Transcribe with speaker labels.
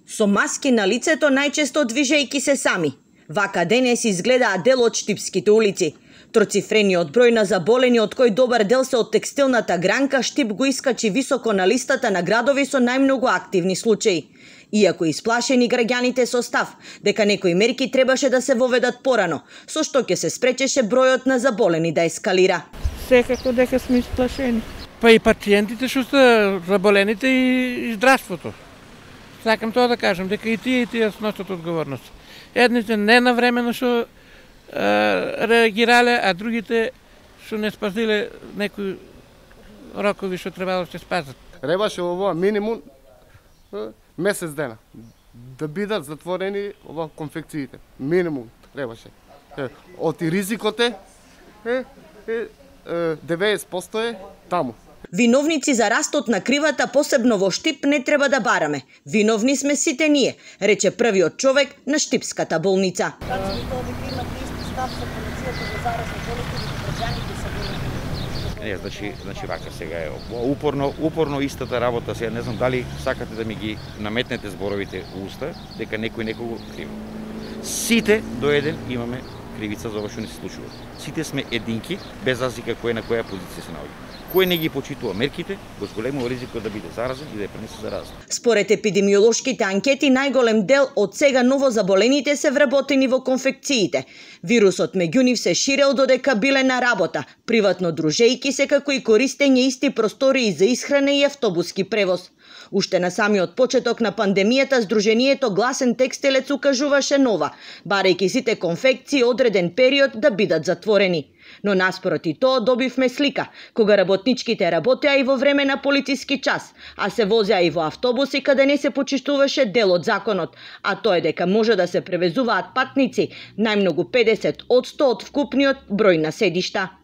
Speaker 1: Со маски на лицето, најчесто движејки се сами. Вака денес изгледаат дел од штипските улици. Троцифрениот број на заболени, од кој добар дел се од текстилната гранка, Штип го искачи високо на листата на градови со најмногу активни случаи. Иако исплашени граѓаните со став дека некои мерки требаше да се воведат порано, со што ќе се спречеше бројот на заболени да ескалира.
Speaker 2: Секако дека сме исплашени. Па и пациентите што се заболените и здравството. Сакам тоа да кажам, дека и тие сносат одговорност. Едните ненавремено што реагирале, а другите што не спазиле некои рокови што требало да се спазат.
Speaker 3: Требаше ово минимум месец дена да бидат затворени ова конфекциите. Минимум требаше. Од ризикот е 90% е таму.
Speaker 1: Виновници за растот на кривата, посебно во Штип, не треба да бараме. Виновни сме сите ние, рече првиот човек на Штипската болница.
Speaker 4: Значи вака сега е упорно истата работа. Сега не знам дали сакате да ми ги наметнете зборовите во уста, дека некој некого криво. Сите до еден имаме кривица за ова што не се случува. Сите сме единки, без разлика кој на која позиција се наоѓа. Кој не ги почитува мерките, го зголемува ризикот да биде заразен и да ја пренесе зараза.
Speaker 1: Според епидемиолошките анкети, најголем дел од сега новозаболените се вработени во конфекциите. Вирусот меѓу нив се ширел додека биле на работа, приватно дружејки се, како и користење исти простории за исхрана и автобуски превоз. Уште на самиот почеток на пандемијата, Сдруженијето Гласен текстилец укажуваше нова, барајќи сите конфекции одреден период да бидат затворени. Но наспроти тоа добивме слика, кога работничките работеа и во време на полициски час, а се возеа и во автобуси каде не се почиштуваше дел од законот, а тоа е дека може да се превезуваат патници најмногу 50% од вкупниот број на седишта.